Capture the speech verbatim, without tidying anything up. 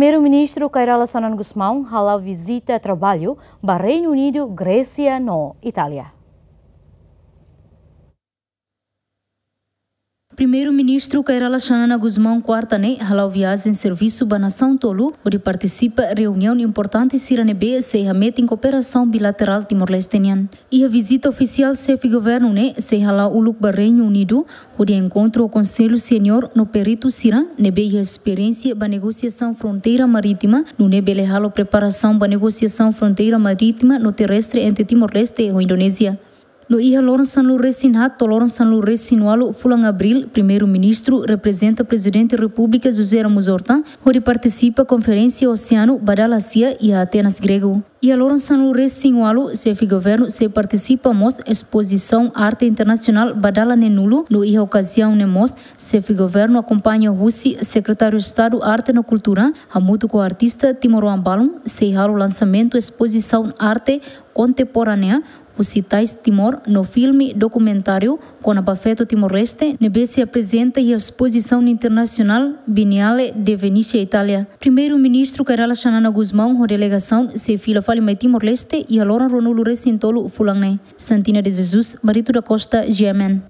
Primeiru-Ministru Kay Rala Xanana Gusmão hala'o vizita traballu ba Reinu Unidu, Grésia no Itália. Primeiru-Ministru Kay Rala Xanana Gusmão kuarta ne'e hala'o viajen servisu ba nasaun tolu, hodi partisipa reuniaun importante sira ne'ebé sei hametin kooperasaun bilaterál Timor-Leste nian. Iha vizita ofisiál xefe governu ne'e sei hala'o uluk ba Reinu Unidu, hodi enkontru ho konsellu seniór no peritu sira ne'ebé iha esperiénsia ba negosiasaun fronteira marítima, nune'e bele halo preparasaun ba negosiasaun fronteira marítima no terrestre entre Timor-Leste ho Indonézia. No iha loron sanulu-resin-haat to'o loron sanulu-resin-ualu fulan Abríl, Primeiru-Ministru reprezenta Prezidente Repúblika José Ramos Horta hodi partisipa Konferénsia Oseanu ba dala sia iha Atenas, Gregu. Iha loron sanulu-resin-ualu, xefe governu sei partisipa mós espozisaun arte internasionál ba dala neenulu, no iha okaziaun ne'e mós xefe governu akompaña husi Sekretáriu Estadu Arte no Kultura, hamutuk ho artista timoroan balun, sei halo lansamentu espozisaun arte kontemporánea husi tais Timor no filme dokumentáriu kona-ba feto Timor-Leste, ne'ebé sei aprezenta iha espozisaun internasionál Biennale de Venezia, Itália. Primeiru-Ministru Kay Rala Xanana Gusmão ho delegasaun sei fila fali mai Timor-Leste iha loron ruanulu-resin-tolu fulan ne'e. Santina de Jesus, Marito da Costa, G M N.